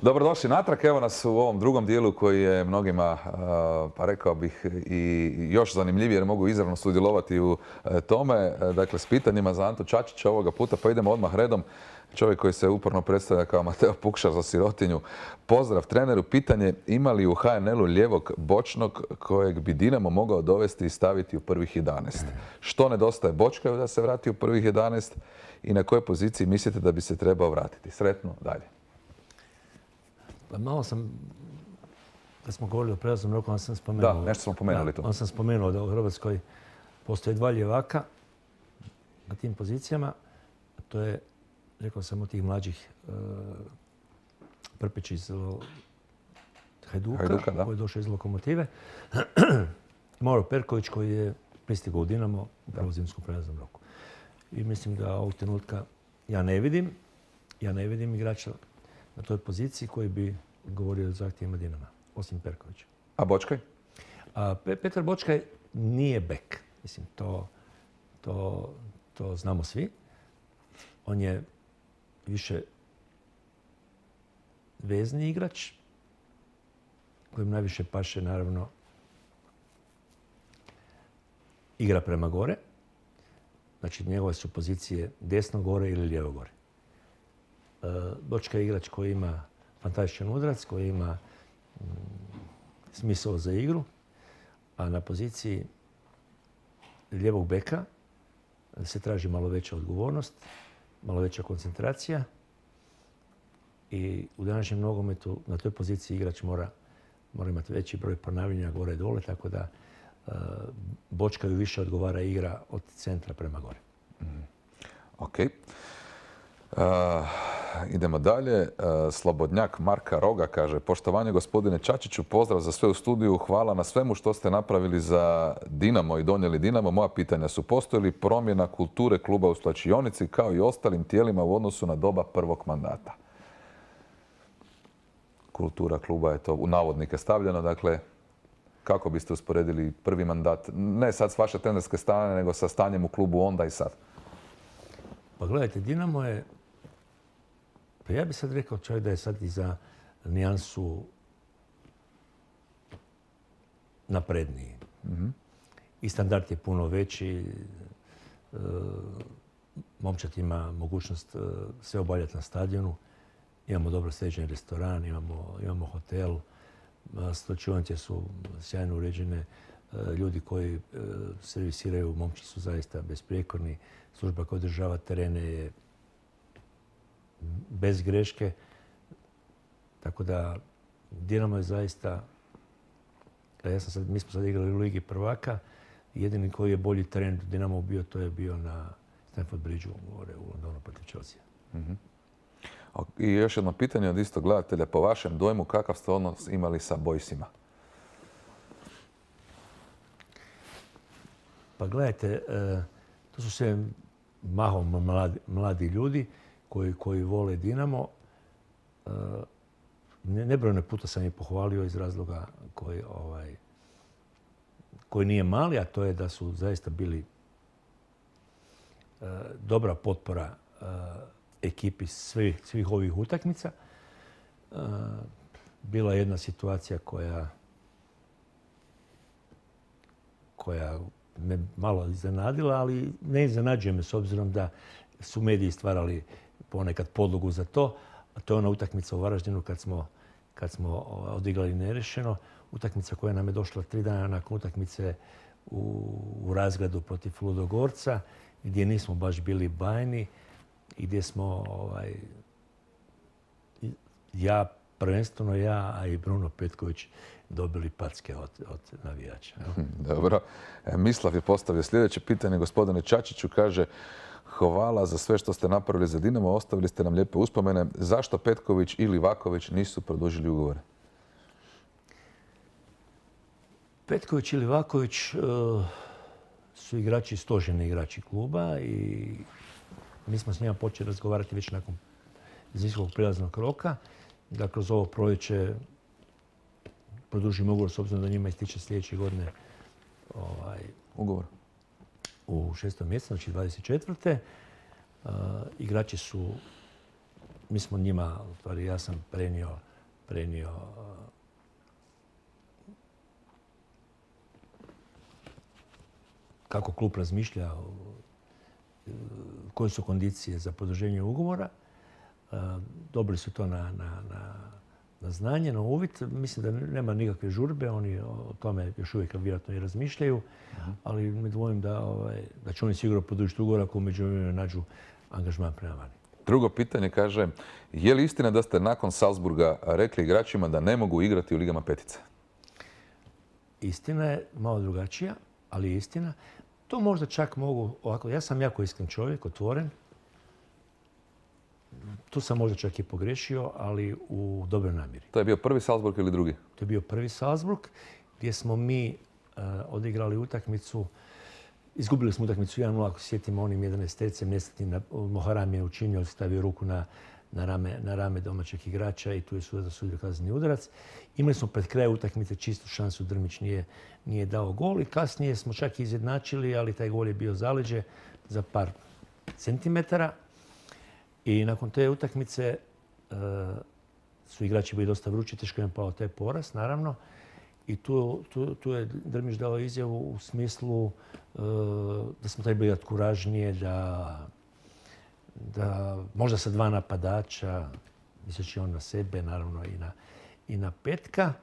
Dobrodošli natrag, evo nas u ovom drugom dijelu koji je mnogima, pa rekao bih, i još zanimljivije jer mogu izravno sudjelovati u tome. Dakle, s pitanjima za Antu Čačića ovoga puta, pa idemo odmah redom. Čovjek koji se uporno predstavlja kao Mateo Pukšar za sirotinju. Pozdrav treneru, pitanje ima li u HNL-u lijevog bočnog kojeg bi Dinamo mogao dovesti i staviti u prvih 11? Što nedostaje Bočkaju da se vrati u prvih 11 i na kojoj poziciji mislite da bi se trebao vratiti? Sretno, dalje. Pa malo sam, kad smo govorili o prelaznom roku, onda sam spomenuo... Da, nešto smo pomenuli tu. Onda sam spomenuo da u Hrvatskoj postoje dva ljevaka na tim pozicijama. To je, rekao sam, od tih mlađih Prpić iz Hajduka, koji je došao iz Lokomotive. Mauro Perković koji je pristigao u Dinamo u zimskom prelaznom roku. I mislim da ovog trenutka ja ne vidim igrača na toj poziciji koji bi odgovorio zahtjevima Dinama, osim Perkovića. A Bočkaj? Petar Bočkaj nije bek. Mislim, to znamo svi. On je više vezni igrač, kojem najviše paše, naravno, igra prema gore. Znači, njegove su pozicije desno gore ili lijevo gore. Bočka je igrač koji ima fantastičan udarac, koji ima smisao za igru, a na poziciji lijevog beka se traži malo veća odgovornost, malo veća koncentracija i u današnjem nogometu na toj poziciji igrač mora imati veći broj ponavljanja gore i dole, tako da Bočkaju više odgovara igra od centra prema gore. Ok. Idemo dalje. Slobodnjak Marka Roga kaže: poštovanje gospodine Čačiću, pozdrav za sve u studiju, hvala na svemu što ste napravili za Dinamo i donijeli Dinamo. Moja pitanja su: postoji li promjena kulture kluba u slačionici kao i ostalim tijelima u odnosu na doba prvog mandata? Kultura kluba je to u navodnike stavljeno, dakle, kako biste usporedili prvi mandat, ne sad s vaše trenerske strane, nego sa stanjem u klubu onda i sad? Pa gledajte, Dinamo je, pa ja bih sad rekao čovjek da je sad i za nijansu napredniji. I standard je puno veći, momčad ima mogućnost sve obavljati na stadionu, imamo dobro sređen restoran, imamo hotel, slačionice su sjajno uređene, ljudi koji servisiraju momci su zaista besprijekorni, služba koja održava terene je bez greške. Tako da Dinamo je zaista, mi smo sad igrali u Ligi prvaka, jedini koji je bolji teren Dinamo bio, to je bio na Stamford Bridgeu u Londonu protiv Chelsea. I još jedno pitanje od istog gledatelja. Po vašem dojmu, kakav ste odnos imali sa Boysima? Pa gledajte, to su sve mahom mladi ljudi koji vole Dinamo. Nebrojeno puta sam ih pohvalio iz razloga koji nije mali, a to je da su zaista bili dobra potpora ekipi svih ovih utakmica. Bila je jedna situacija koja me malo iznenadila, ali ne iznenađuje me s obzirom da su mediji stvarali ponekad podlogu za to. A to je ona utakmica u Varaždinu kad smo odigrali nerešeno. Utakmica koja nam je došla 3 dana nakon utakmice u Razgradu protiv Ludogorca, gdje nismo baš bili bajni i gdje smo prvenstveno ja, a i Bruno Petković dobili packe od navijača. Dobro. Mislav je postavio sljedeće pitanje. Gospodine Čačiću, kaže: hvala za sve što ste napravili za Dinamo, ostavili ste nam lijepe uspomene. Zašto Petković ili Vaković nisu produžili ugovore? Petković ili Vaković su igrači, stoženi igrači kluba i mi smo s njima počeli razgovarati već nakon zimskog prijelaznog roka. Da kroz ovo proljeće produžimo ugovor s obzirom da njima ističe sljedeće godine ugovor u 6. mjesecu, znači 24. Igrači su, mi smo njima, ja sam prenio prenio kako klub razmišlja, koje su kondicije za produženje ugovora. Dobili su to na znanje, na uvid. Mislim da nema nikakve žurbe. Oni o tome još uvijek vjerojatno i razmišljaju. Ali me dvojim da će oni sigurno produžiti ugovor ako među vremenu nađu angažman prema vani. Drugo pitanje kaže, je li istina da ste nakon Salzburga rekli igračima da ne mogu igrati u ligama petice? Istina je malo drugačija, ali je istina. To možda čak mogu ovako. Ja sam jako iskren čovjek, otvoren. Tu sam možda čak i pogrešio, ali u dobroj namjeri. To je bio prvi Salzburg ili drugi? To je bio prvi Salzburg gdje smo mi odigrali utakmicu. Izgubili smo utakmicu 1-0, ako sjetimo onim 11-tercem nesretnim. Moharam je učinio, stavio ruku na rame domaćeg igrača i tu je sudac osudio kazneni udarac. Imali smo pred kraj utakmice čistu šansu, Drmić nije dao gol i kasnije smo čak izjednačili, ali taj gol je bio zaleđe za par centimetara. I nakon te utakmice su igrači bili dosta vrući, teško im pao taj poraz, naravno. I tu je Drmić dao izjavu u smislu da smo trebali biti kuražnije, da možda sa 2 napadača, misleći on na sebe, naravno i na Petka.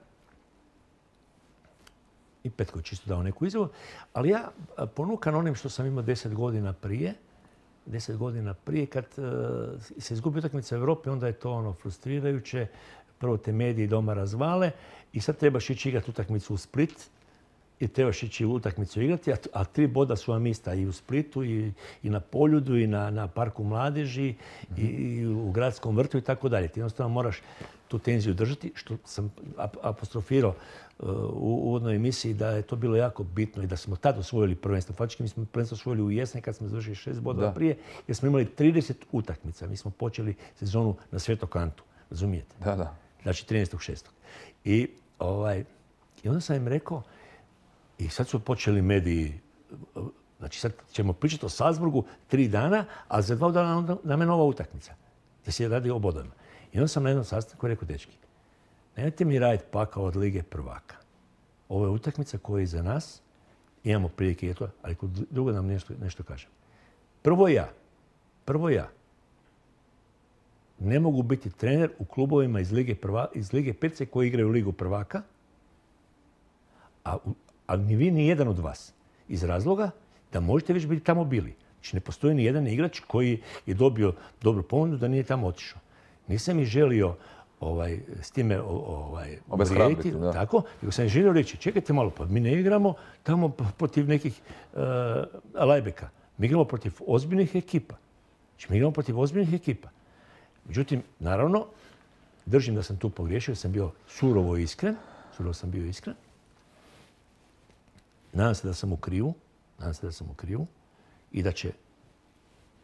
I Petko je čisto dao neku izjavu. Ali ja ponukan onim što sam imao 10 godina prije, kad se izgubi utakmica u Europi, onda je to frustrirajuće. Prvo te mediji doma razvale i sad trebaš ići igrati utakmicu u Split i trebaš ići utakmicu igrati, a 3 boda su vam ista i u Splitu i na Poljudu i na Parku mladeži i u Gradskom vrtu i tako dalje. Ti jednostavno moraš tu tenziju držati, što sam apostrofirao u uvodnoj emisiji da je to bilo jako bitno i da smo tad osvojili prvenstvo. Faktički mi smo prvenstvo osvojili u jesen kad smo završili 6 bodova prije, jer smo imali 30 utakmica. Mi smo počeli sezonu na Svetog Antu, razumijete? Da. Znači 13.6. I onda sam im rekao, i sad su počeli mediji, znači sad ćemo pričati o Salzburgu 3 dana, a za 2 dana nam je nova utakmica, gdje se radi o bodovima. I onda sam na jednom sastanku rekao, dečki, nemojte mi raditi pakao od Lige prvaka. Ovo je utakmica koja je iza nas, imamo prilike, ali drugo nam nešto kažem. Prvo ja ne mogu biti trener u klubovima iz Lige petice koji igraju Ligu prvaka, a ni vi, ni jedan od vas. Iz razloga da možete već biti tamo bili. Znači ne postoji ni jedan igrač koji je dobio dobru ponudu da nije tamo otišao. Nisam ih želio s time obezvrijediti, tako, nego sam ih želio reći, čekajte malo, pa mi ne igramo tamo protiv nekih lajbeka. Mi igramo protiv ozbiljnih ekipa. Znači mi igramo protiv ozbiljnih ekipa. Međutim, naravno, držim da sam tu pogriješio, sam bio surovo iskren. Nadam se da sam u krivu i da će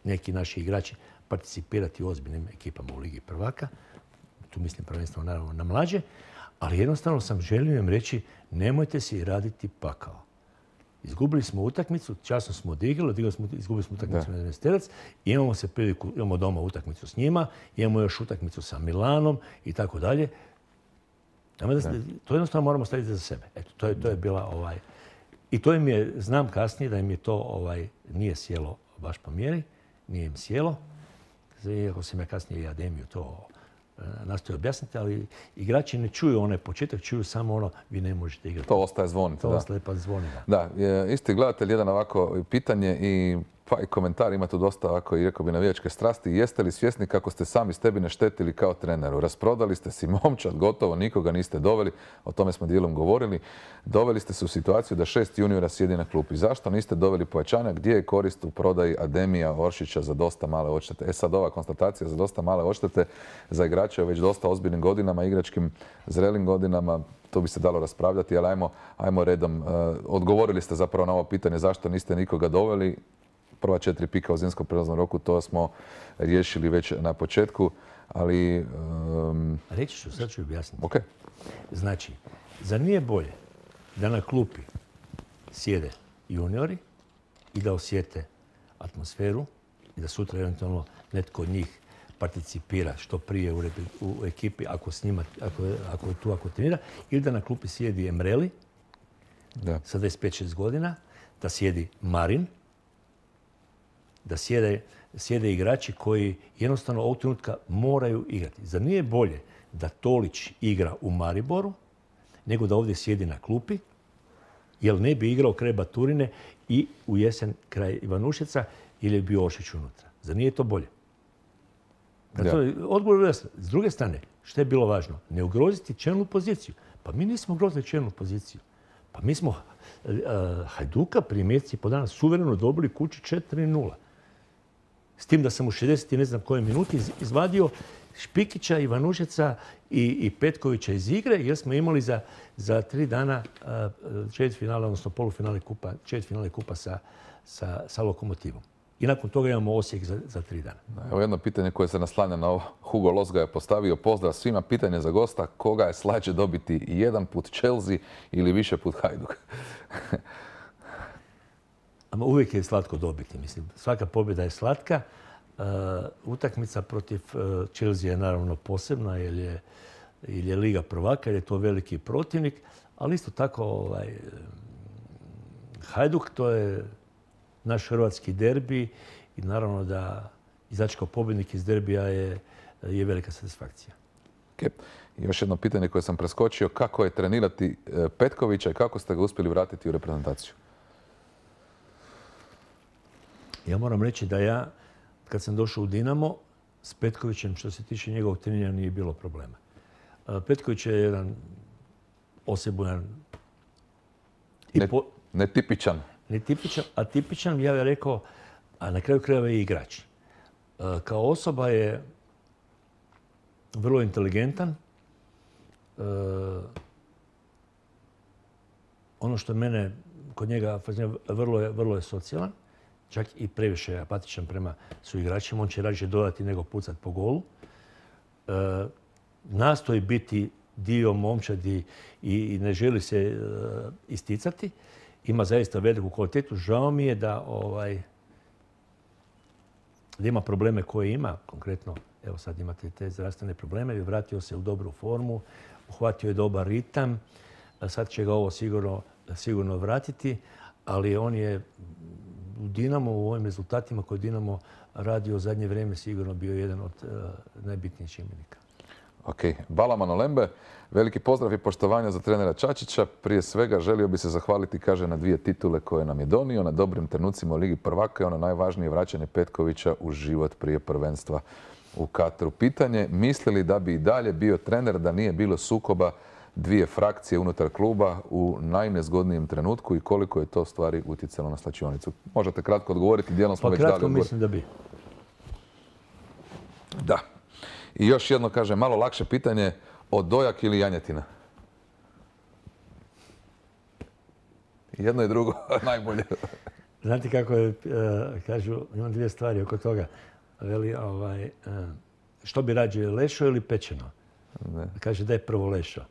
neki naši igrači participirati u ozbiljnim ekipama u Ligi prvaka. Tu mislim prvenstveno naravno na mlađe, ali jednostavno sam želio im reći nemojte si raditi pakao. Izgubili smo utakmicu, časno smo odigrali, izgubili smo utakmicu na 11-terac, imamo doma utakmicu s njima, imamo još utakmicu sa Milanom i tako dalje. To jednostavno moramo staviti za sebe. Eto, to je bila I to im je, znam kasnije da im je to nije sjelo baš po mjeri, nije im sjelo. Iako sam ja kasnije i Ademiju to nastoji objasniti, ali igrači ne čuju onaj početak, čuju samo vi ne možete igrati. To ostaje zvoniti. To ostaje pa zvoni. Da, isti gledatelj, jedan ovako pitanje i komentar, ima tu dosta ovako i rekao bi navijačke strasti. Jeste li svjesni kako ste sami Stebine štetili kao treneru? Rasprodali ste si momčad, gotovo, nikoga niste doveli, o tome smo dijelom govorili. Doveli ste se u situaciju da 6 juniora sjedi na klupi. Zašto niste doveli pojačanja? Gdje je korist u prodaji Ademija, Oršića za dosta male odštete? Sad ova konstatacija za dosta male odštete za igrače u već dosta ozbiljnim godinama, igračkim zrelim godinama, to bi se dalo raspravljati, ali ajmo redom. Odgovorili ste zapravo na ovo pitanje zašto niste nikoga doveli. Prva 4 pika u zimskom prijelaznom roku, to smo riješili već na početku, ali... Reći ću, sad ću objasniti. Okay. Znači, zar nije bolje da na klupi sjede juniori i da osjete atmosferu i da sutra eventualno netko od njih participira što prije u ekipi ako je tu, ako trenira, ili da na klupi sjedi Emreli sa 25-6 godina, da sjedi Marin, da sjede igrači koji jednostavno ovog trenutka moraju igrati. Zar nije bolje da Tolić igra u Mariboru nego da ovdje sjedi na klupi, jer ne bi igrao kraj Baturine i u jesen kraj Ivanušeca ili je bio Ošić unutra. Zar nije to bolje? Odgovor je jasno. S druge strane, što je bilo važno? Ne ugroziti čelnu poziciju. Pa mi nismo ugrozili čelnu poziciju. Pa mi smo Hajduka prije mjeseci po dana suvereno dobili kući 4-0. S tim da sam u 60 i ne znam koje minuti izvadio Špikića, Ivanušeca i Petkovića iz igre, jer smo imali za 3 dana četvrtfinale, odnosno četvrtfinale kupa sa Lokomotivom. I nakon toga imamo Osijek za 3 dana. Evo jedno pitanje koje se naslanja na ovo. Hugo Los ga je postavio. Pozdrav svima. Pitanje za gosta. Koga je slađe dobiti jedan put Chelsea ili više put Hajduk? Uvijek je slatko dobiti. Mislim, svaka pobjeda je slatka. Utakmica protiv Chelsea je naravno posebna jer je Liga prvaka, jer je to veliki protivnik. Ali isto tako Hajduk, to je naš hrvatski derbi i naravno da izaći kao pobjednik iz derbija je velika satisfakcija. Okay. Još jedno pitanje koje sam preskočio. Kako je trenirati Petkovića i kako ste ga uspjeli vratiti u reprezentaciju? Ja moram reći da ja, kad sam došao u Dinamo, s Petkovićem, što se tiče njegovog treniranja, nije bilo problema. Petković je jedan osebujan... Netipičan. Netipičan, a tipičan, ja bih rekao, a na kraju krajeva je igrač. Kao osoba je vrlo inteligentan. Ono što mene kod njega vrlo je socijalan. Čak i previše apatičan prema suigračima. On će rađe dodati nego pucat po golu. Nastoji biti dio momčadi i ne želi se isticati. Ima zaista veliku kvalitetu. Žao mi je da ima probleme koje ima. Konkretno, evo sad imate te zdravstvene probleme. Vratio se u dobru formu. Uhvatio je dobar ritam. Sad će ga ovo sigurno vratiti. Ali on je u Dinamo, u ovim rezultatima koje Dinamo radio u zadnje vrijeme, sigurno bio jedan od najbitnijih čimbenika. Ok. Balaman Olembe, veliki pozdrav i poštovanja za trenera Čačića. Prije svega želio bi se zahvaliti, kaže, na 2 titule koje nam je donio, na dobrim trenucima u Ligi prvaka i ono najvažnije vraćanje Petkovića u život prije prvenstva u Katru. Pitanje, misli li da bi i dalje bio trener da nije bilo sukoba 2 frakcije unutar kluba u najnezgodnijem trenutku i koliko je to stvari utjecalo na slačionicu? Možete kratko odgovoriti, dijelom smo već dali odgovor. Kratko mislim da bi. Da. I još jedno, kaže, malo lakše pitanje, Odojak ili Janjetina? Jedno i drugo, najbolje. Znate kako je, kažu, imam 2 stvari oko toga. Veli, što bi rađe, lešo ili pečeno? Ne. Kaže da je prvo lešo.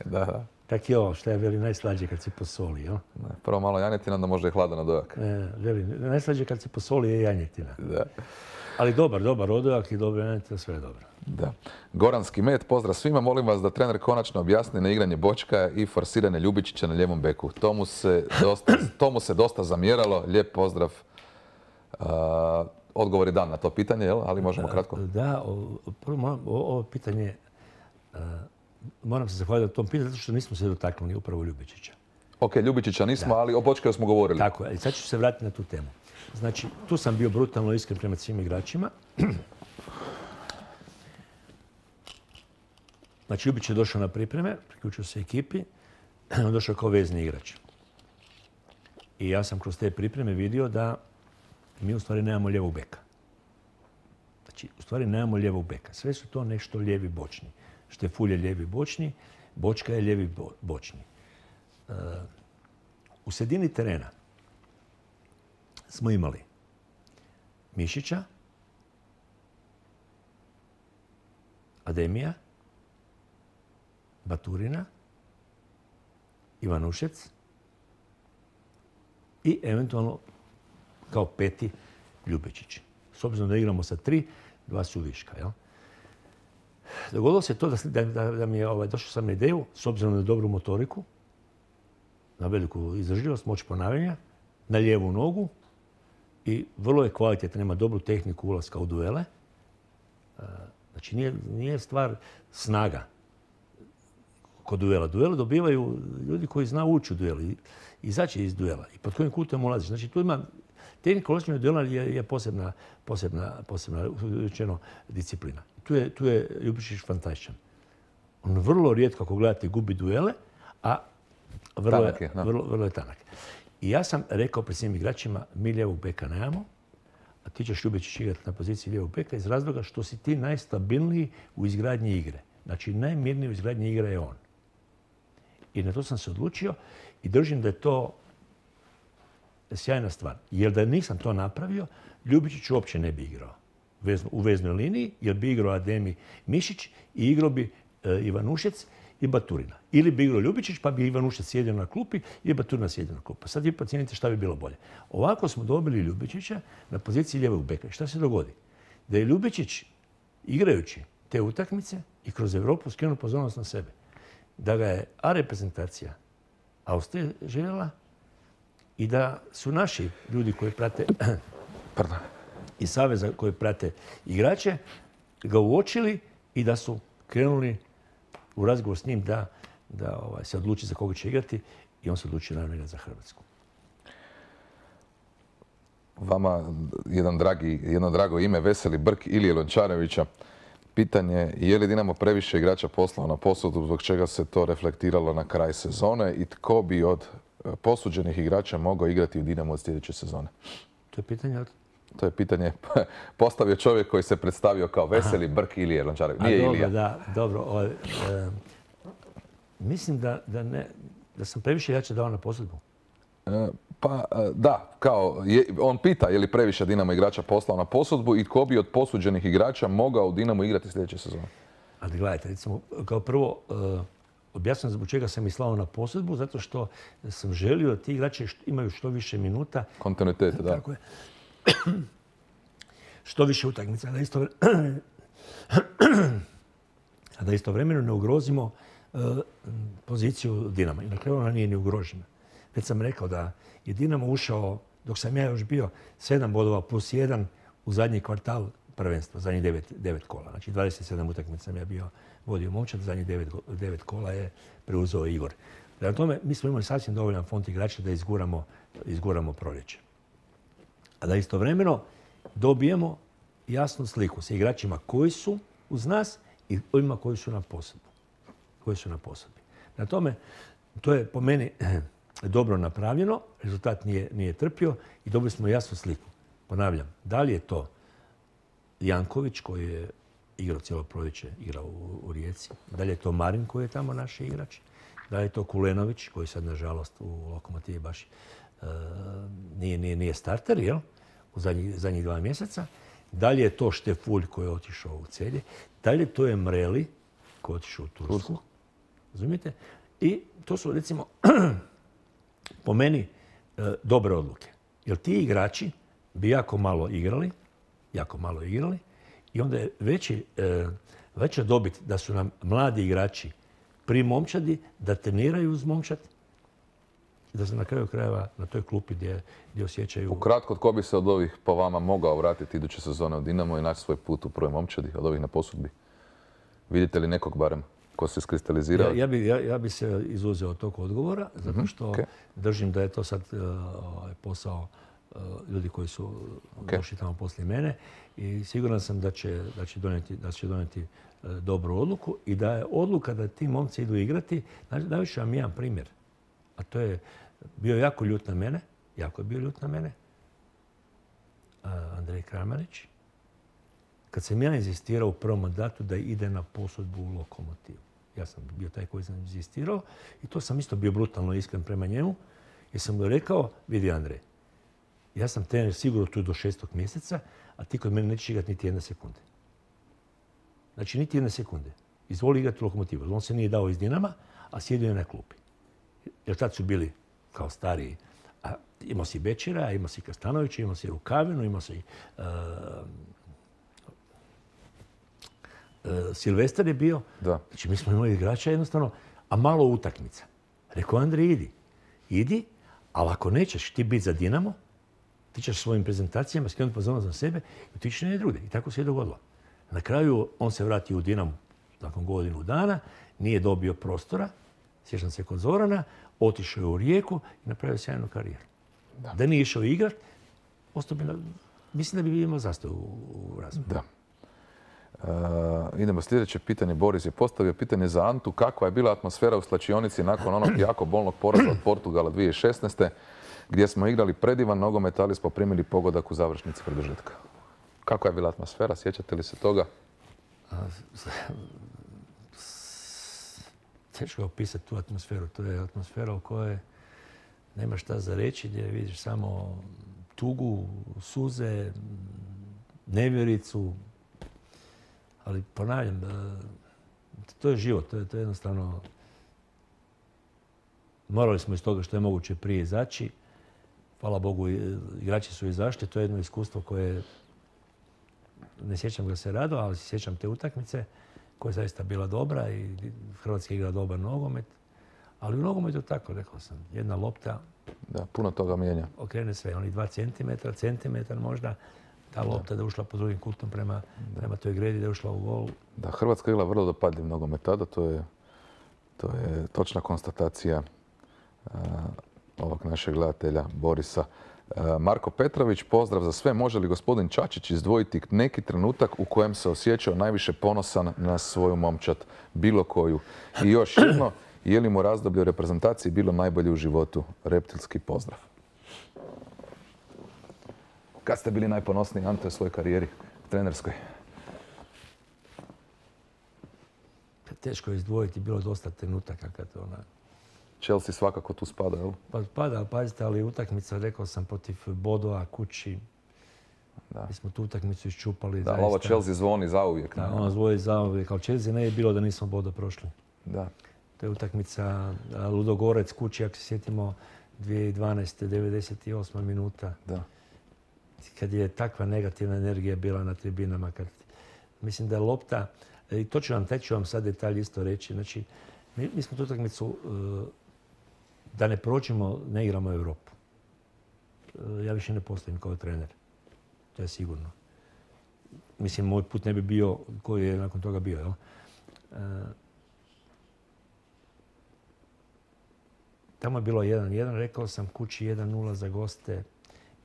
Da. Tak je ovo, što je veli najslađe kad se posoli, jel? Prvo malo janjetina, onda možda i hladan odojak. Veli, najslađe kad se posoli je janjetina. Da. Ali dobar odojak i dobra janjetina, sve je dobro. Da. Goranski med, pozdrav svima. Molim vas da trener konačno objasni neigranje Bočka i forsiranje Ljubičića na lijevom beku. To mu se dosta zamjeralo. Lijep pozdrav. Odgovor je dan na to pitanje, jel? Ali možemo kratko. Da, ovo pitanje... Moram se zahvaliti na tom pitanju, zato što nismo se dotaknuli upravo Ljubičića. Ok, Ljubičića nismo, ali o Bočkaju smo govorili. Tako je. Sad ću se vratiti na tu temu. Znači, tu sam bio brutalno iskren prema svim igračima. Znači, Ljubić je došao na pripreme, priključio se ekipi, on došao kao vezni igrač. I ja sam kroz te pripreme vidio da mi u stvari nemamo lijevog beka. Znači, u stvari nemamo lijevog beka. Sve su to nešto lijevi bočni. Štefulj je lijevi bočni, Bočka je lijevi bočni. U sredini terena smo imali Mišića, Ademija, Baturina, Ivanušec i eventualno kao 5. Ljubičić. S obzirom da igramo sa 3, dva su viška. Jel? Dogodilo se to da mi je došao sam na ideju, s obzirom na dobru motoriku, na veliku izdržljivost, moć ponavljanja, na lijevu nogu i vrlo je kvalitetan, ima dobru tehniku ulaska u duele. Znači nije stvar snaga kod duela. Duele dobivaju ljudi koji znaju ući u duel i izaći iz duela i pod kojim kutom ulaziš. Znači tu ima tehnika ulaženja u duela je posebna rečeno disciplina. Tu je Ljubičić fantastičan. On vrlo rijetko, ako gledate, gubi duele, a vrlo je tanak. I ja sam rekao pred svim igračima, mi lijevog beka nemamo, a ti ćeš Ljubičić igrati na poziciji lijevog beka iz razloga što si ti najstabilniji u izgradnji igre. Znači, najmirniji u izgradnji igre je on. I na to sam se odlučio i držim da je to sjajna stvar. Jer da nisam to napravio, Ljubičić uopće ne bi igrao u veznoj liniji, jer bi igrao Ademi Mišić i igrao bi Ivanušec i Baturina. Ili bi igrao Ljubičić, pa bi Ivanušec sjedio na klupi i Baturina sjedio na klupi. Sad vi procijenite šta bi bilo bolje. Ovako smo dobili Ljubičića na poziciji lijevog beka. I šta se dogodi? Da je Ljubičić, igrajući te utakmice i kroz Europu, skrenuo pozornost na sebe. Da ga je A reprezentacija Austrije željela i da su naši ljudi koji prate i saveza koji prate igrače ga uočili i da su krenuli u razgovor s njim da se odluči za koga će igrati i on se odlučio naravno igrati za Hrvatsku. Vama jedno drago ime, Veseli Brk Ilije Lončarevića. Pitanje je li Dinamo previše igrača poslao na posudu, zbog čega se to reflektiralo na kraj sezone i tko bi od posuđenih igrača mogao igrati u Dinamo od sljedeće sezone? To je pitanje postavio čovjek koji se predstavio kao Veseli Brk Ilije Lončarević. Nije Ilija. Dobro. Mislim da sam previše igrača dao na posudbu. Pa da, on pita je li previše Dinamo igrača poslao na posudbu i tko bi od posuđenih igrača mogao u Dinamo igrati sljedeće sezone. Ali gledajte, recimo, kao prvo, objasnim zbog čega sam ih slao na posudbu, zato što sam želio da ti igrači imaju što više minuta. Kontinuitet, da. Tako je. Što više utakmica, da istovremeno ne ugrozimo poziciju Dinama. I na kraju ona nije ni ugrožena. Već sam rekao da je Dinamo ušao, dok sam ja još bio, 7 bodova plus 1 u zadnji kvartal prvenstva, zadnjih 9 kola. Znači 27 utakmica sam ja bio vodio momčad, zadnjih 9 kola je preuzeo Igor. Prema tome, mi smo imali sasvim dovoljan fond igrača da izguramo proljeće. A da istovremeno dobijemo jasnu sliku sa igračima koji su uz nas i ovima koji su na posudbi. Na tome, to je po meni dobro napravljeno, rezultat nije trpio i dobili smo jasnu sliku. Ponavljam, da li je to Janković koji je igrao cijelo proljeće, igrao u Rijeci, da li je to Marin koji je tamo naš igrač, da li je to Kulenović koji sad nažalost u Lokomotivi baš nije starter, jel? U zadnjih 2 mjeseca. Da li je to Štefulj koji je otišao u Celje, da li je to Emreli koji je otišao u Tursku. Razumijete? I to su recimo po meni dobre odluke. Jer ti igrači bi jako malo igrali i onda je veća dobit da su nam mladi igrači pri momčadi, da treniraju uz momčad, da se na kraju krajeva na toj klupi gdje osjećaju... Ukratko, tko bi se od ovih po vama mogao vratiti iduće sezone u Dinamo i naći svoj put u prvoj momčadi, od ovih na posudbi? Vidite li nekog barem ko se iskristalizirao? Ja bi se izuzeo od tog odgovora, zato što držim da je to sad posao ljudi koji su došli tamo poslije mene i siguran sam da će donijeti dobru odluku i da je odluka da ti momci idu igrati. Najviše vam jedan primjer, a to je bio jako ljut na mene, Andrej Kramarić, kad sam ja inzistirao u prvom mandatu da ide na posudbu u Lokomotivu. Ja sam bio taj koji sam inzistirao i to sam isto bio brutalno iskren prema njemu jer sam mu rekao, vidi Andrej, ja sam trener sigurno tu do 6. mjeseca, a ti kod mene nećeš igrati niti 1 sekunde. Znači, niti 1 sekunde. Izvoli igrati u Lokomotivu. On se nije dao iz Dinama, a sjedio je na klupi. Jer tad su bili kao stariji. A imao si Bečera, imao si Kastanovića, imao si Rukavinu, imao si Silvestar je bio. Da. Znači, mi smo imali igrača jednostavno, a malo utakmica. Rekao, Andrej, idi, ali ako nećeš ti biti za Dinamo, ti ćeš svojim prezentacijama skrenuti pozornost na sebe i ti ćeš ne druge. I tako se je dogodilo. Na kraju on se vratio u Dinamo nakon godinu dana, nije dobio prostora, sjećam se kod Zorana, otišao je u Rijeku i napravio sjajnu karijeru. Da nije išao igrat, mislim da bi imao zastoj u razvoju. Da. Idemo sljedeće pitanje. Boris je postavio pitanje za Antu. Kakva je bila atmosfera u slačionici nakon onog jako bolnog poraza od Portugala 2016. gdje smo igrali predivan nogomet, ali smo primili pogodak u završnici produžetka? Kakva je bila atmosfera? Sjećate li se toga? Teško je opisati tu atmosferu. To je atmosfera u kojoj nema šta za reći, gdje vidiš samo tugu, suze, nevjericu. Ali ponavljam, to je život, to je jednostavno... Morali smo iz toga što je moguće prije izaći. Hvala Bogu, igrači su izašli. To je jedno iskustvo koje... Ne sjećam ga se rado, ali sjećam te utakmice koja je zaista bila dobra i Hrvatska igra dobar nogomet. Ali u nogometu tako, rekao sam, jedna lopta... Da, puno toga mijenja. Okrene sve, oni 2 centimetra možda. Ta lopta da je ušla po drugim kutom prema toj gredi, da je ušla u gol. Da, Hrvatska igra vrlo dopadljiv nogomet tada, to je točna konstatacija ovog našeg gledatelja Borisa. Marko Petrović, pozdrav za sve. Može li gospodin Čačić izdvojiti neki trenutak u kojem se osjećao najviše ponosan na svoju momčad, bilo koju? I još jedno, je li mu razdoblje u reprezentaciji bilo najbolje u životu? Reptilski pozdrav. Kad ste bili najponosniji, Ante, u svojoj karijeri trenerskoj? Teško je izdvojiti, bilo je dosta trenutaka kad ona... Chelsea svakako tu spada, jel? Pa spada, pazite, ali utakmica, rekao sam, protiv Bodova kući. Da. Mi smo tu utakmicu iščupali. Da, ovo Chelsea zvoni zauvijek. Da, ono zvoni zauvijek, ali Chelsea ne je bilo da nismo Bodo prošli. Da. To je utakmica Ludogorec kući, ako se sjetimo, 2012. 98. minuta. Da. Kad je takva negativna energija bila na tribinama. Mislim da je lopta, i to ću vam sad detalj isto reći, znači mi smo tu utakmicu, da ne prođemo, ne igramo Europu. Ja više ne postojim kao trener. To je sigurno. Mislim, moj put ne bi bio koji je nakon toga bio. Jel? Tamo je bilo 1-1, rekao sam kući 1-0 za goste,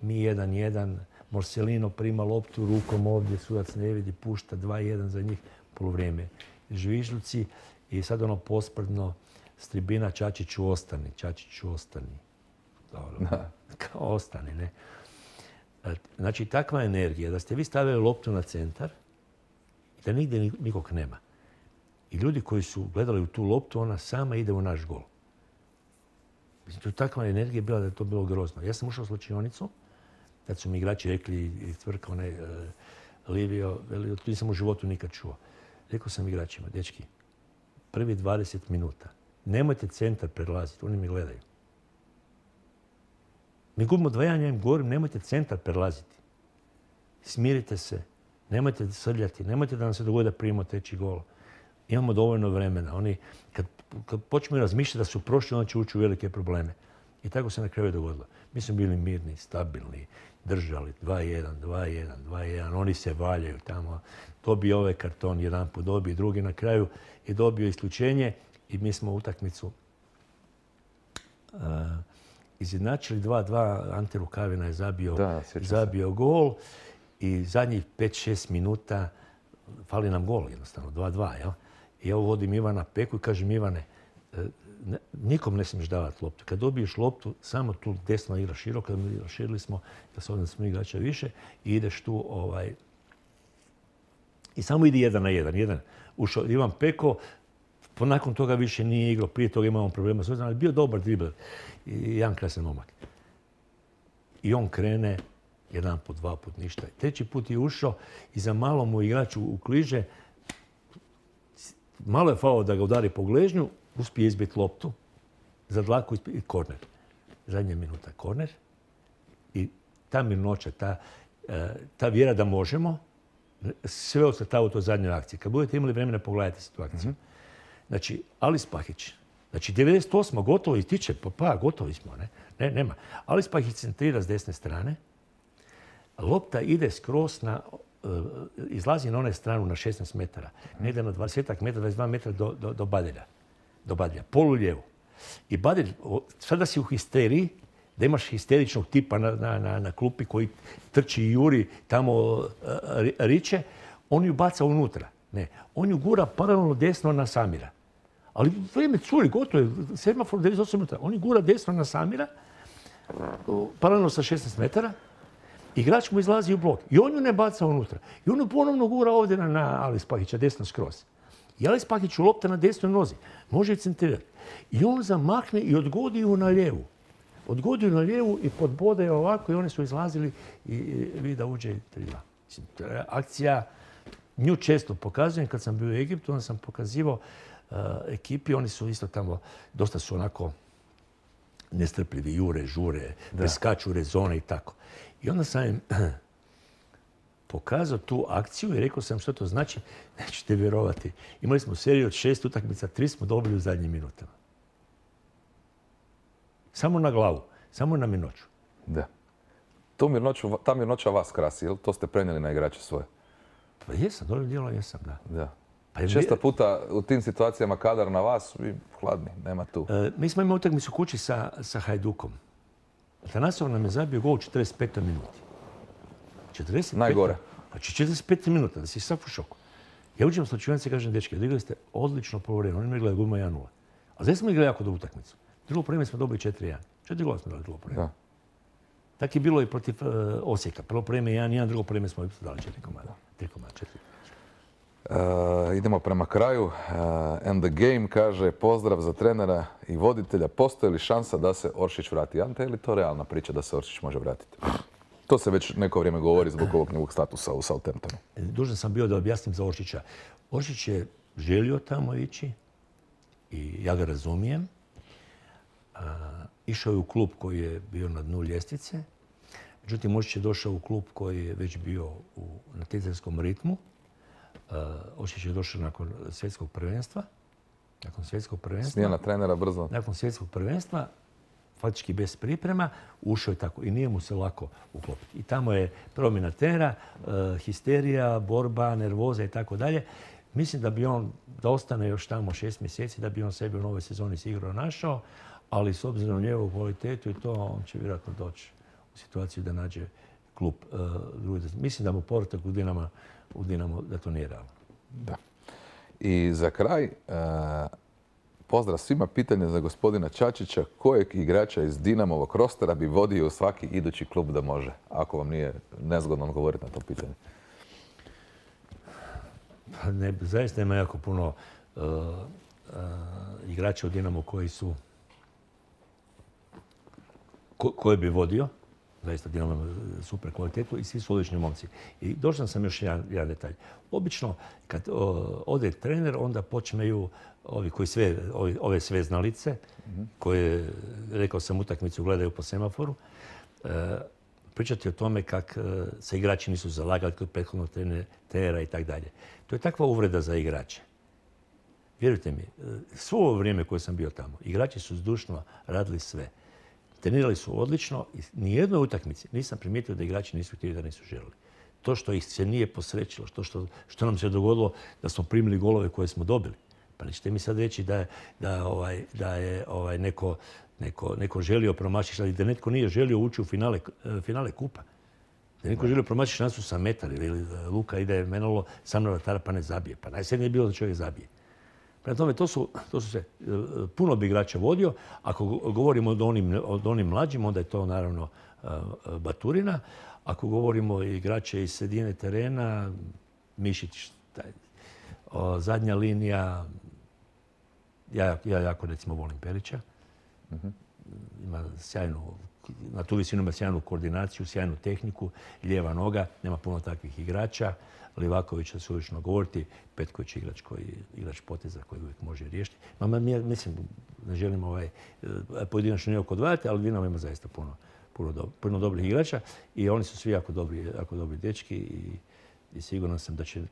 mi 1-1, Morselino prima loptu rukom ovdje, sudac ne vidi, pušta 2-1 za njih, poluvrijeme. Žvižduci i sad ono posprdno s tribina Čačiću ostani. Dobro, kao ostani, ne. Znači, takva energija da ste vi stavili loptu na centar i da nigdje nikog nema. I ljudi koji su gledali u tu loptu, ona sama ide u naš gol. Mislim, to je takva energija bila da je to bilo grozno. Ja sam ušao u slačionicu, kad su mi igrači rekli i Tvrka, Livio, to nisam u životu nikad čuo. Rekao sam igračima, dečki, prvi 20 minuta, nemojte centar prelaziti, oni mi gledaju. Mi gubimo 2-1, ja im govorim, nemojte centar prelaziti. Smirite se, nemojte srljati, nemojte da nam se dogodi da primimo treći gol. Imamo dovoljno vremena. Oni, kad počnemo razmišljati da su prošli, onda će ući u velike probleme. I tako se na kraju dogodilo. Mi smo bili mirni, stabilni, držali 2-1. Oni se valjaju tamo. Dobije ovaj karton jedan put, dobije drugi. Na kraju je dobio isključenje i mi smo utakmicu izjednačili 2-2. Ante Rukavina je zabio gol i zadnjih 5-6 minuta fali nam gol jednostavno, 2-2. Jel? I ja vodim Ivana Peku i kažem, Ivane, nikom ne smiješ davati loptu. Kad dobiješ loptu, samo tu desno igraš široko, širili smo, da se ovdje smo igrača više, i ideš tu i samo idi 1-1. Ušao Ivan Peko, nakon toga više nije igrao, prije toga imamo problema s ali bio dobar dribler i jedan krasan momak. I on krene, jedan put, dva put, ništa. Treći put je ušao i za malo mu igrač ukliže, malo je falilo da ga udari po gležnju, uspije izbiti loptu za dlaku i korner. Zadnja minuta korner. I ta mirnoća, ta vjera da možemo, sve ocrtava u toj zadnjoj akciji. Kad budete imali vremena, pogledajte si tu akciju. Znači, Alis Pahić. Znači, 98. gotovo ističe, gotovi smo, ne? Nema. Alis Pahić centrira s desne strane. Lopta ide skroz izlazi na one stranu na 16 metara. Negdje na 20 metara, 22 metara do Badilja. Polu lijevo. I Badilj, sada si u histeriji, da imaš histeričnog tipa na klupi koji trči i juri, tamo riče, on ju baca unutra. Ne, on ju gura paralelno desno na Samira. Ali vrijeme curi, gotovo je, semafor 98 minuta. On ju gura desno na Samira, paralelno sa 16 metara. Igrač mu izlazi u blok. I on ju ne baca unutra. I on ju ponovno gura ovdje na Alis Pahića, desno skroz. I Alis Pahić lopta na desnoj nozi. Može je centrirati. I on zamakne i odgodi ju na lijevu. Odgodi ju na lijevu i podbode je ovako i oni su izlazili i vidi da uđe 3-2. Akcija, nju često pokazujem. Kad sam bio u Egiptu, onda sam pokazivao ekipi. Oni su isto tamo, dosta su onako nestrpljivi, jure, žure, preskaču rezone i tako. I onda sam im pokazao tu akciju i rekao sam što to znači. Nećete vjerovati. Imali smo seriju od 6 utakmica, 3 smo dobili u zadnjim minutama. Samo na glavu, samo na mirnoću. Da. Ta mirnoća vas krasi, jel? To ste prenijeli na igrače svoje? Pa jesam, dobrim dijelom jesam, da. Da. Često puta u tim situacijama kadar na vas, vi hladni, nema tu. Mi smo imali utakmicu kući sa Hajdukom. Tanasov nam je zabio gol u 45. minuti. 45. Najgore. Znači 45 minuta, da si sav u šoku. Ja uđem u slačionice i kažem, dečki, odigrali ste odlično prvo vrijeme. Oni mi gledaju guma 1-0. A zdaj smo igrali jako dobru utakmicu. Drugo vrijeme smo dobili 4-1. 4 gola smo dali drugo vrijeme. Tako je bilo i protiv Osijeka. Prvo vrijeme 1-1, drugo vrijeme smo dali 4 komada. 3 komada, 4. Idemo prema kraju. And the game kaže, pozdrav za trenera i voditelja. Postoji li šansa da se Oršić vrati? Ante, je li to realna priča da se Oršić može vratiti? To se već neko vrijeme govori zbog ovog njegovog statusa u Southamptonu. Dužan sam bio da objasnim za Oršića. Oršić je želio tamo ići i ja ga razumijem. Išao je u klub koji je bio na dnu ljestvice. Međutim, Oršić je došao u klub koji je već bio u natjecateljskom ritmu. Oršić je došao nakon svjetskog prvenstva. Smjena trenera brzo. Nakon svjetskog prvenstva, faktički bez priprema, ušao je tako i nije mu se lako uklopiti. I tamo je promjena trenera, histerija, borba, nervoza i tako dalje. Mislim da bi on, da ostane još tamo 6 mjeseci, da bi on sebi u novoj sezoni sigurno našao, ali s obzirom na njegovu kvalitetu i to, on će vjerojatno doći u situaciju da nađe klub drugi. Mislim da mu povratak u Dinamo da to nije realno. Da. I za kraj, pozdrav svima, pitanje za gospodina Čačića. Kojeg igrača iz Dinamovog rostera bi vodio u svaki idući klub da može? Ako vam nije nezgodno odgovoriti na to pitanje. Ne, zaista ima jako puno igrača u Dinamo koji su koje bi vodio. Zaista Dinamo ima super kvalitetu i svi su odlični momci. I došao sam još jedan detalj. Obično kad ode trener, onda počneju ovi koji ove sve znalice, koje, rekao sam, utakmicu gledaju po semaforu, pričati o tome kak se igrači nisu zalagali kod prethodnog trenera i tako dalje. To je takva uvreda za igrače. Vjerujte mi, svo ovo vrijeme koje sam bio tamo, igrači su zdušno radili sve. Trenirali su odlično i nijednoj utakmici nisam primijetio da igrači nisu htjeli, da nisu želili. To što ih se nije posrećilo, što nam se dogodilo da smo primili golove koje smo dobili. Pa nećete mi sad reći da je neko želio promašiti, ali da netko nije želio ući u finale kupa. Da netko želio promašiti šansu sa metar ili Luka ide menalo sam na vratara pa ne zabije. Pa najsrednije je bilo da čovjek zabije. Prema tome, to su se puno bi igrača vodio. Ako govorimo od onim mlađim, onda je to naravno Baturina. Ako govorimo igrače iz sredine terena, Mišić, zadnja linija, ja jako recimo volim Perića. Ima na tu visinu ima sjajnu koordinaciju, sjajnu tehniku, lijeva noga, nema puno takvih igrača. Livakovića se ulično govoriti, Petković je igrač poteza koji uvijek može riješiti. Mislim, ne želim pojedinačno nije odvajati, ali Dinamo ima zaista puno dobrih igrača i oni su svi jako dobri dečki i i siguran sam da će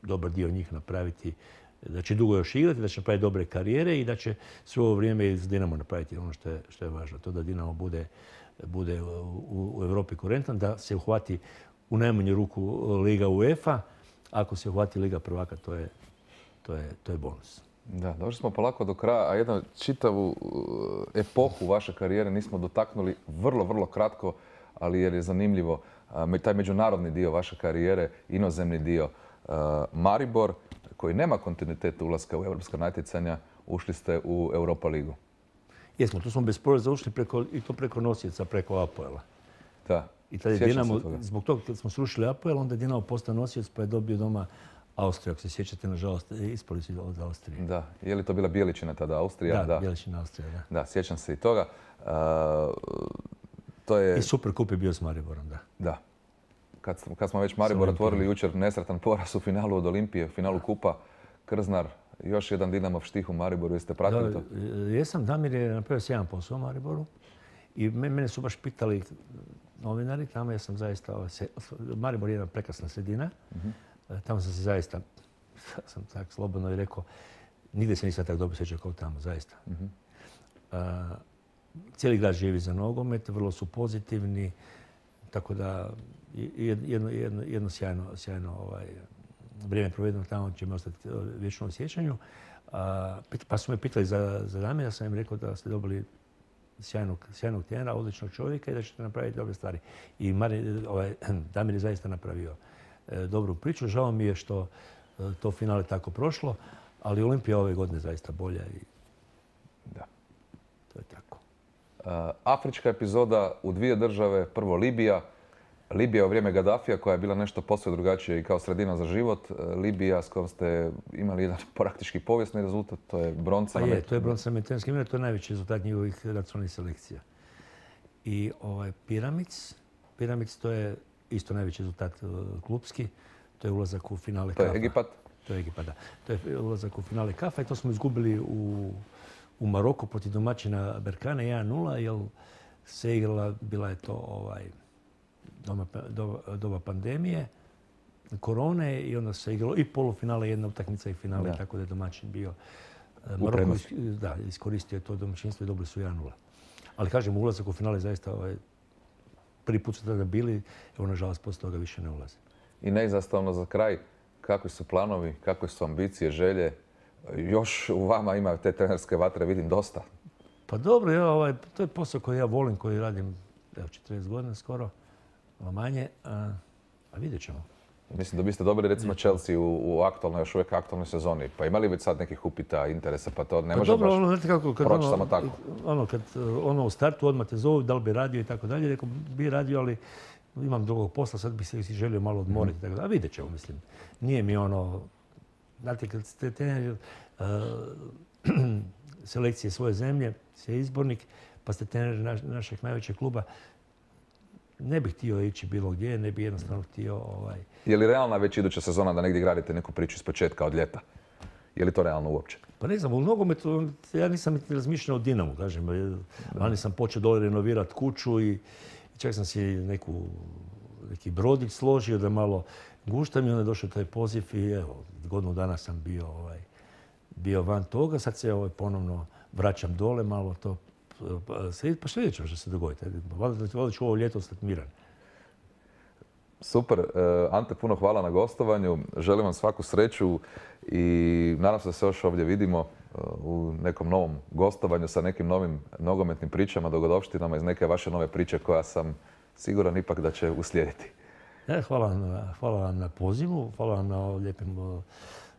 dobar dio njih napraviti, da će dugo još igrati, da će napraviti dobre karijere i da će sve ovo vrijeme iz Dinamo napraviti ono što je važno. To da Dinamo bude u Europi konkurentan, da se uhvati u najmanju ruku Liga UEFA. Ako se uhvati Liga prvaka, to je bonus. Da, došli smo polako do kraja, a jednu čitavu epohu vaše karijere nismo dotaknuli vrlo, vrlo kratko, ali jer je zanimljivo taj međunarodni dio vaše karijere, inozemni dio. Maribor, koji nema kontinuitet ulaska u europska natjecanja, ušli ste u Europa ligu. Jesmo, tu smo bez poreza ušli i to preko nosioca, preko Apoela. Da. I tad je Dinamo, zbog toga kad smo srušili Apoel, onda je Dinamo postao nosioc pa je dobio doma Austriju. Ako se sjećate, nažalost, ispali su od Austrije. Da. Je li to bila Bjeličina tada, Austrija? Da, Bjeličina, Austrija, da. Da, sjećam se i toga. To je... I Superkup je bio s Mariborom, da. Da. Kad smo već Maribor otvorili jučer nesretan poraz u finalu od Olimpije, u finalu Kupa, Krznar, još jedan Dinamov štih u Mariboru. Jeste pratili to? Jesam, Damir je napravio sjajan posao u Mariboru i mene su baš pitali novinari, tamo ja sam zaista, Maribor je jedna prekrasna sredina, tamo sam se zaista, sam tako slobodno i rekao, nigdje se nisam tako dobro sjećao kao tamo, zaista. Cijeli grad živi za nogomet, vrlo su pozitivni, tako da jedno sjajno vrijeme provedeno tamo će mi ostati vječno u sjećanju. Pa su me pitali za Damira, sam im rekao da ste dobili sjajnog trenera, odličnog čovjeka i da ćete napraviti dobre stvari. I Damir je zaista napravio dobru priču. Žao mi je što to finale tako prošlo, ali Olimpija ove godine zaista bolja i da. To je tako. Afrička epizoda u dvije države, prvo Libija. Libija u vrijeme Gaddafija koja je bila nešto posve drugačije i kao sredina za život. Libija s kojom ste imali jedan praktički povijesni rezultat, to je bronca. Pa je, to je bronca na mediteranskim igrama, to je najveći rezultat njihovih nacionalnih selekcija. I Piramids, to je isto najveći rezultat klupski, to je ulazak u finale Kafa. To je Egipat? To je Egipat, da. To je ulazak u finale Kafa i to smo izgubili u Maroku protiv domaćina Berkane 1-0, jer se igrala, bila je to doba pandemije, korone i onda se igralo i polufinale, jedna utakmica i finale, tako da je domaćin bio. Maroko iskoristio to domaćinstvo i dobili su 1-0. Ali kažem, ulazak u finale zaista prvi put su tada bili, evo nažalost poslije toga više ne ulaze. I neizostavno za kraj, kakvi su planovi, kakve su ambicije, želje? Još u vama ima te trenerske vatre, vidim dosta. Pa dobro, to je posao koji ja volim, koji radim 40 godina skoro, manje, a vidjet ćemo. Mislim da biste dobili recimo Chelsea u aktualnoj, još uvijek aktualnoj sezoni. Pa imali već sad nekih upita, interesa, pa to ne može baš proći samo tako. Kad u startu odmah te zovu, da li bi radio i tako dalje, rekao bi radio, ali imam drugog posla, sad bih se želio malo odmoriti. Tako da, a vidjet ćemo, mislim. Nije mi znate, kad ste trener selekcije svoje zemlje, ste izbornik, pa ste trener našeg najvećeg kluba, ne bih htio ići bilo gdje, ne bih jednostavno htio... Je li realna već iduća sezona da negdje gradite neku priču iz početka od ljeta? Je li to realno uopće? Pa ne znam, u nogometu ja nisam niti razmišljao o Dinamu, kažem. Lani sam počeo dole renovirati kuću i čak sam si neki brodić složio da malo guštam i onda je došao taj poziv i evo, godinu dana sam bio van toga. Sad se ponovno vraćam dole, malo to pa što vidjet ćemo što se dogoditi. Valjda ću ovo ljeto ostati miran. Super. Ante, puno hvala na gostovanju. Želim vam svaku sreću i nadam se da se još ovdje vidimo u nekom novom gostovanju sa nekim novim nogometnim pričama, dogodovštinama iz neke vaše nove priče koja sam siguran ipak da će uslijediti. Hvala vam na pozivu, hvala vam na lijepim...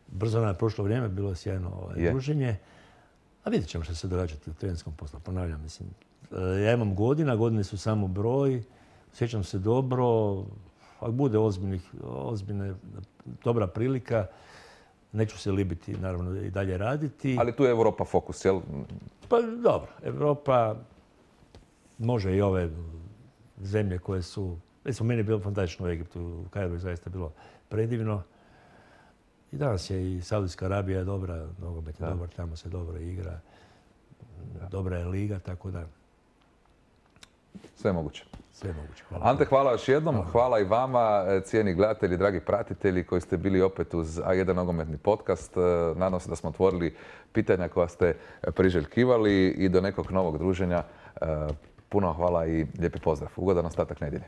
Brzo nam je prošlo vrijeme, bilo je sjajno druženje. A vidjet ćemo što se događati u trenerskom poslu. Ponavljam, mislim, ja imam godine su samo broj, sjećam se dobro, ako bude ozbiljna, dobra prilika, neću se libiti, naravno, i dalje raditi. Ali tu je Europa fokus, jel? Pa dobro, Europa može i ove zemlje koje su... Recimo, meni je bilo fantastično u Egiptu, u Kairu je zaista bilo predivno. I danas je i Saudijska Arabija dobra, nogomet je dobar, tamo se dobro igra. Dobra je liga, tako da... Sve sve je moguće. Sve je moguće. Hvala. Ante, hvala još jednom. Hvala i vama, cijeni gledatelji, dragi pratitelji koji ste bili opet uz A1 nogometni podcast. Nadam se da smo otvorili pitanja koja ste priželjkivali i do nekog novog druženja. Puno hvala i lijepi pozdrav. Ugodan ostatak nedjelje.